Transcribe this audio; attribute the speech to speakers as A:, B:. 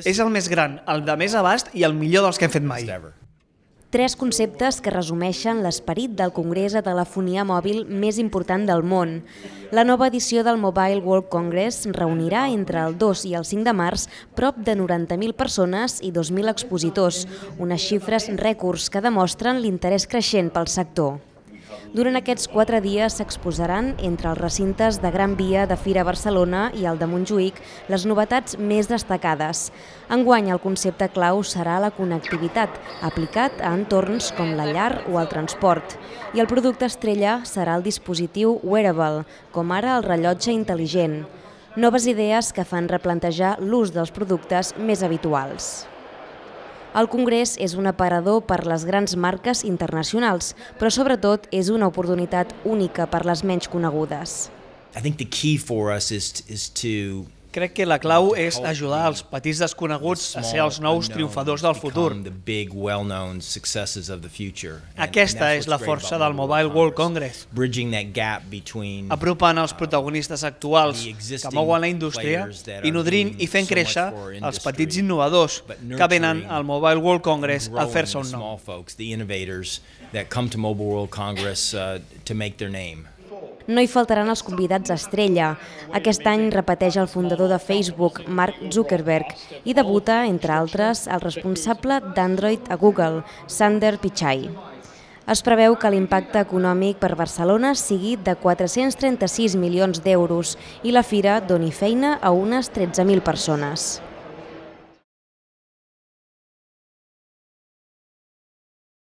A: És el més gran, el de més abast i el millor dels que hem fet mai.
B: Tres conceptes que resumeixen l'esperit del congrés de telefonia mòbil més important del món. La nova edició del Mobile World Congress reunirà entre el 2 i el 5 de març prop de 90.000 persones i 2.000 expositors, unes xifres rècords que demostren l'interès creixent pel sector. Durant aquests 4 dies s'exposaran entre els recintes de Gran Via de Fira Barcelona i el de Montjuïc les novetats més destacades. Enguany el concepte clau serà la connectivitat, aplicat a entorns com la llar o el transport. I el producte estrella serà el dispositiu wearable, com ara el rellotge intel·ligent. Noves idees que fan replantejar l'ús dels productes més habituals. El Congrés és un aparador per les grans marques internacionals, però sobretot és una oportunitat única per les menys conegudes.
A: Crec que la clau és ajudar els petits desconeguts a ser els nous triomfadors del futur. Aquesta és la força del Mobile World Congress. Apropant els protagonistes actuals que mouen la indústria i nodrint i fent créixer els petits innovadors que venen al Mobile World Congress a fer-se un nom.
B: No hi faltaran els convidats estrella. Aquest any repeteix el fundador de Facebook, Mark Zuckerberg, i debuta, entre altres, el responsable d'Android a Google, Sundar Pichai. Es preveu que l'impacte econòmic per Barcelona sigui de 436 milions d'euros i la fira doni feina a unes 13.000 persones.